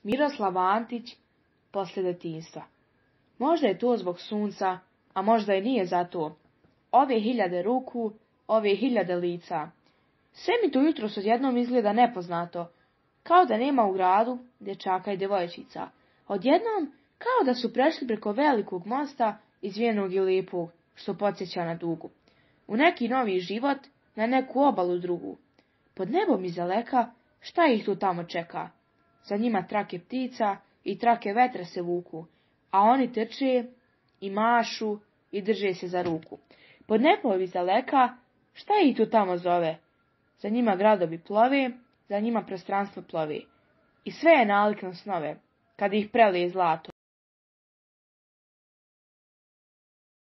Miroslav Antić, poslije detinjstva. Možda je to zbog sunca, a možda i nije zato. Ove 1000 ruku, ove 1000 lica. Sve mi to jutros odjednom izgleda nepoznato, kao da nema u gradu dječaka i djevojčica. Odjednom, kao da su prešli preko velikog mosta, izvijenog i lijepog, što podsjeća na dugu. U neki novi život, na neku obalu drugu. Pod nebom izdaleka, šta ih tu tamo čeka? Za njima trake ptica i trake vetra se vuku, a oni trče i mašu i drže se za ruku. Pod nebom izdaleka, šta ih tu tamo zove? Za njima gradovi plove, za njima prostranstvo plove. I sve je nalik na snove, kad ih prelije zlato.